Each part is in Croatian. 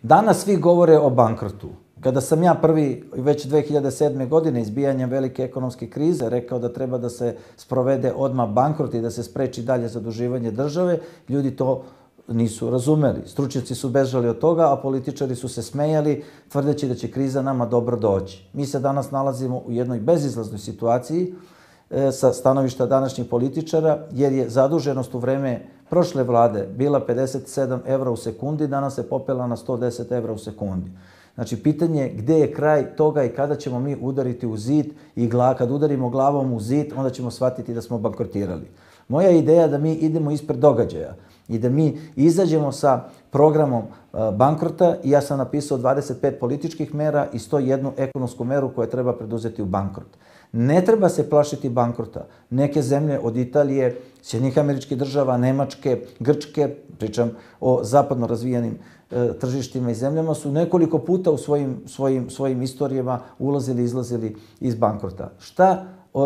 Danas svi govore o bankrotu. Kada sam ja prvi, već 2007. godine, izbijanjem velike ekonomske krize, rekao da treba da se sprovede odmah bankrot i da se spreči dalje zaduživanje države, ljudi to nisu razumeli. Stručnjaci su bežali od toga, a političari su se smejali, tvrdeći da će kriza nama dobro doći. Mi se danas nalazimo u jednoj bezizlaznoj situaciji sa stanovišta današnjih političara, jer je zaduženost u vreme prošle vlade bila 57 evra u sekundi, danas se popela na 110 evra u sekundi. Znači, pitanje je gde je kraj toga i kada ćemo mi udariti u zid i kad udarimo glavom u zid, onda ćemo shvatiti da smo bankrotirali. Moja ideja je da mi idemo ispred događaja i da mi izađemo sa programom bankrota i ja sam napisao 25 političkih mera i 101 ekonomsku meru koja treba preduzeti u bankrot. Ne treba se plašiti bankrota. Neke zemlje od Italije, Sjedinjenih Američkih Država, Nemačke, Grčke, pričam o zapadno razvijenim tržištima i zemljama, su nekoliko puta u svojim istorijama ulazili i izlazili iz bankrota.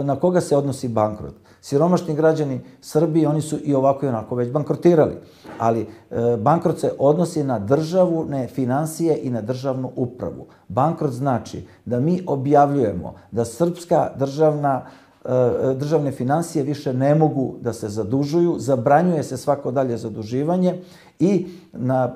Na koga se odnosi bankrot? Siromašni građani Srbije, oni su i ovako i onako već bankrotirali, ali bankrot se odnosi na državne financije i na državnu upravu. Bankrot znači da mi objavljujemo da srpska državne financije više ne mogu da se zadužuju, zabranjuje se svako dalje zaduživanje i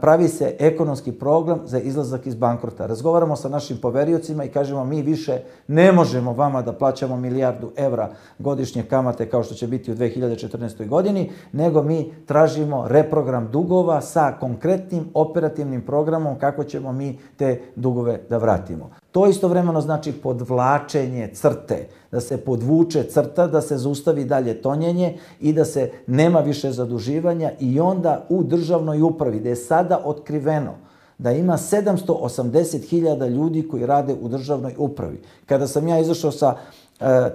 pravi se ekonomski program za izlazak iz bankrota. Razgovaramo sa našim poveriocima i kažemo mi više ne možemo vama da plaćamo 1 milijardu evra godišnje kamate kao što će biti u 2014. godini, nego mi tražimo reprogram dugova sa konkretnim operativnim programom kako ćemo mi te dugove da vratimo. To istovremeno znači podvlačenje crte, da se podvuče crta, da se zaustavi dalje tonjenje i da se nema više zaduživanja i onda u državnoj upravi, gde je sada otkriveno da ima 780.000 ljudi koji rade u državnoj upravi. Kada sam ja izašao sa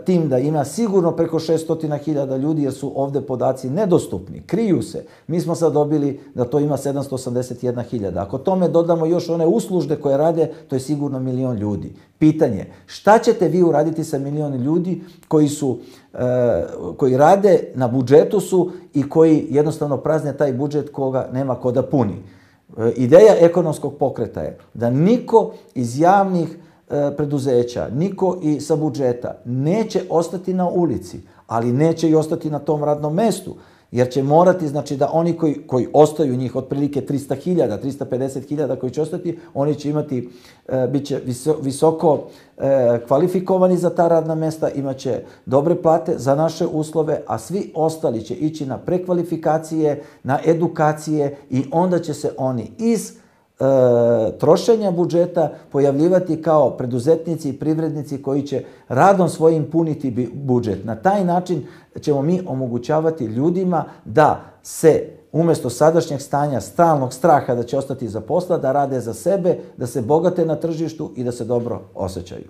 tim da ima sigurno preko 600.000 ljudi, jer su ovde podaci nedostupni, kriju se. Mi smo sad dobili da to ima 781.000. Ako tome dodamo još one uslužne koje rade, to je sigurno 1.000.000 ljudi. Pitanje, šta ćete vi uraditi sa 1.000.000 ljudi koji rade, na budžetu su i koji jednostavno prazne taj budžet koga nema ko da puni? Ideja ekonomskog pokreta je da niko iz javnih preduzeća, niko i sa budžeta neće ostati na ulici, ali neće i ostati na tom radnom mestu, jer će morati, znači da oni koji ostaju, njih otprilike 300.000, 350.000 koji će ostati, oni će imati, bit će visoko kvalifikovani za ta radna mesta, imaće dobre plate za naše uslove, a svi ostali će ići na prekvalifikacije, na edukacije i onda će se oni iz trošenja budžeta pojavljivati kao preduzetnici i privrednici koji će radom svojim puniti budžet. Na taj način ćemo mi omogućavati ljudima da se umesto sadašnjeg stanja stalnog straha da će ostati za posla, da rade za sebe, da se bogate na tržištu i da se dobro osjećaju.